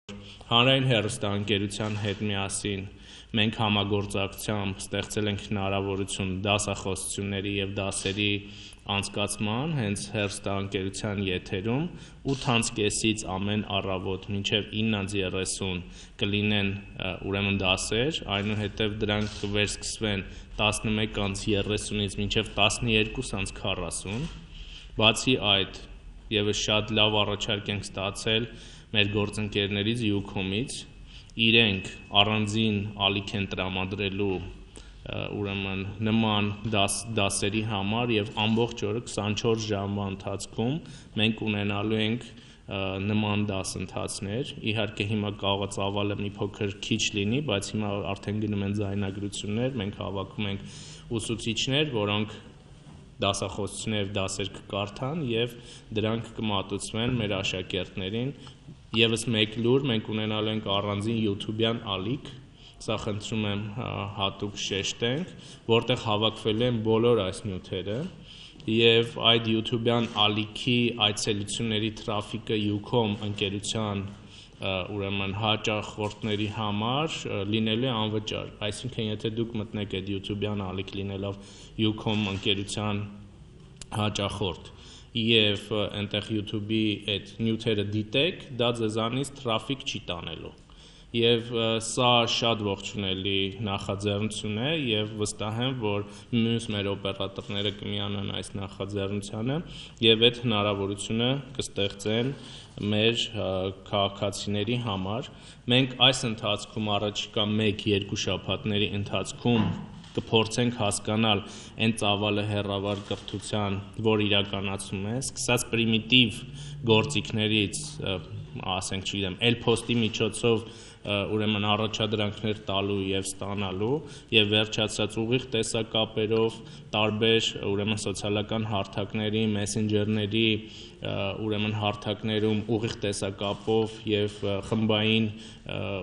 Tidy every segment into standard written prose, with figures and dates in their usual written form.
Հանրային հեռուստաընկերության հետ միասին մենք համագործակցությամբ ստեղծել ենք հնարավորություն դասախոսությունների և դասերի անցկացման հենց հեռուստաընկերության եթերում 8:30-ից ամեն առավոտ մինչև 9:30 կլինեն ուրեմն դասեր, այնուհետև դրանք կվերսկսվեն 11:30-ից մինչև 12:40, բացի այդ ևս շատ լավ առաջարկ ենք ստացել մեր գործընկերներից Ucom-ից, իրենք առանձին ալիք են տրամադրելու ուրեմն նման դասերի համար և ամբողջ օրը 24 ժամվա ընթացքում մենք ունենալու ենք նման դասընթացներ, իհարկե հիմա կարող է ծավալը մի փոքր քիչ լինի, բայց հիմա արդեն գնում են ձայնագրություններ, մենք հավաքում ենք ուսուցիչներ, որոնք դասախոսություններ դասեր կկարդան և դրանք կմատուցվեն մեր աշակերտներին, ևս մեկ լուր մենք ունենալու ենք առանձին YouTube-յան ալիք, սա խնդրում եմ հատուկ շեշտենք, որտեղ հավաքվելու են բոլոր այս նյութերը և այդ YouTube-յան ալիքի այցելությունների թրաֆիկը Ucom ընկերության ուրեմն հաճախորդների համար լինելու է անվճար, այսինքն եթե դուք մտնեք այդ YouTube-յան ալիք լինելով Ucom ընկերության հաճախորդ և այնտեղ YouTube-ի այդ նյութերը դիտեք, դա ձեզանից թրաֆիկ չի տանելու և սա շատ ողջունելի նախաձեռնություն է և վստահ եմ, որ մյուս մեր օպերատորները կմիանան այս նախաձեռնությանը և այդ հնարավորությունը կստեղծեն մեր քաղաքացիների համար, մենք այս ընթացքում առաջիկա 1-2 շաբաթների ընթացքում կփորձենք հասկանալ այն ծավալը հեռավար կրթության, որ իրականացում է, սկսած պրիմիտիվ գործիքներից, ասենք չգիտեմ, էլ-փոստի միջոցով ուրեմն առաջադրանքներ տալու և ստանալու և վերջացած ուղիղ տեսակապերով տարբեր ուրեմն սոցիալական հարթակների, մեսենջերների ուրեմն հարթակներում ուղիղ տեսակապով և խմբային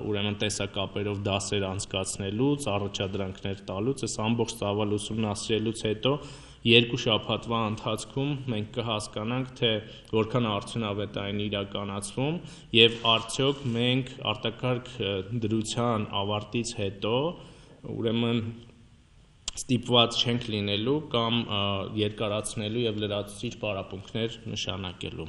ուրեմն տեսակապերով դասեր անցկացնելուց, առաջադրանքներ տալուց, այս ամբողջ ծավալը ուսումնասիրելուց հետո 2 շաբաթվա ընթացքում մենք կհասկանանք, թե որքան արդյունավետ է այն իրականացվում և արդյոք մենք արտակարգ դրության ավարտից հետո ուրեմն ստիպված չենք լինելու կամ երկարացնելու և լրացուցիչ պարապմունքներ նշանակելու։